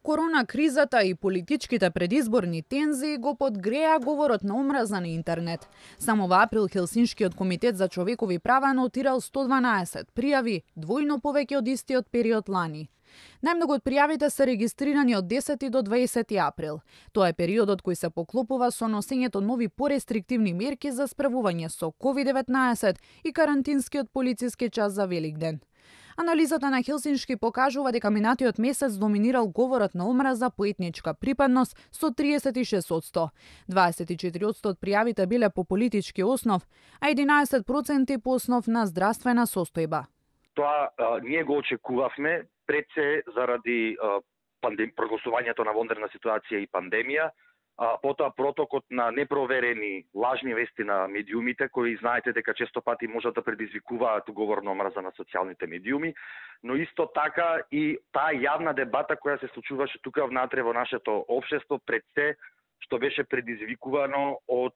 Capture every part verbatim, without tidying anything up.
Корона кризата и политичките предизборни тензии го подгреа говорот на омраза на интернет. Само во април Хелсиншкиот комитет за човекови права нотирал сто дванаесет пријави, двојно повеќе од истиот период лани. Најмногу од пријавите се регистрирани од десети до дваесети април. Тоа е периодот кој се поклопува со носењето нови порестриктивни мерки за справување со ковид деветнаесет и карантинскиот полициски час за Великден. Анализата на Хелсиншки покажува дека минатиот месец доминирал говорот на омраза по етничка припадност со триесет и шест одсто. дваесет и четири одсто од пријавите биле по политички основ, а единаесет проценти по основ на здравствена состојба. Тоа а, ние го очекувавме пред се заради а, пандем... прогласувањето на вонредна ситуација и пандемија, а потоа протокот на непроверени лажни вести на медиумите, кои знаете дека често пати можат да предизвикуваат говор на омраза на социјалните медиуми, но исто така и таа јавна дебата која се случуваше тука внатре во нашето општество пред се, што беше предизвикувано од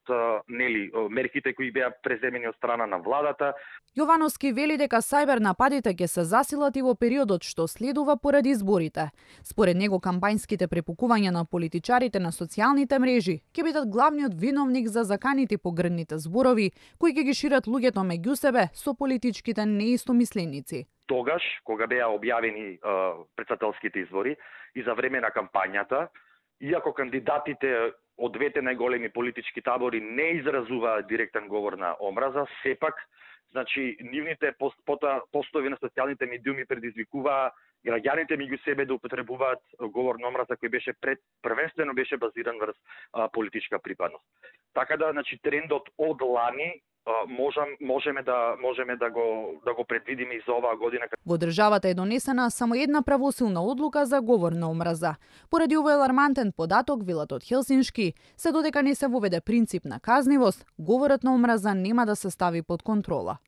нели мерките кои беа преземени од страна на владата. Јовановски вели дека сајбер нападите ќе се засилат и во периодот што следува поради изборите. Според него кампањските препукувања на политичарите на социјалните мрежи ќе бидат главниот виновник за заканите погрдните зборови кои ќе ги шират луѓето меѓу себе со политичките неистомисленици. Тогаш, кога беа објавени претседателските избори и за време на кампањата, иако кандидатите од двете најголеми политички табори не изразуваат директен говор на омраза, сепак, значи, нивните пост, постови на социјалните медиуми предизвикуваа граѓаните меѓу себе да употребуваат говор на омраза кој беше пред, првенствено беше базиран врз а, политичка припадност. Така да, значи, трендот од лани можем можеме да можеме да го да го предвидиме и за оваа година. Во државата е донесена само една правосилна одлука за говор на омраза. Поради овој алармантен податок, велат од Хелсиншки, се додека не се воведе принцип на казнивост, говорот на омраза нема да се стави под контрола.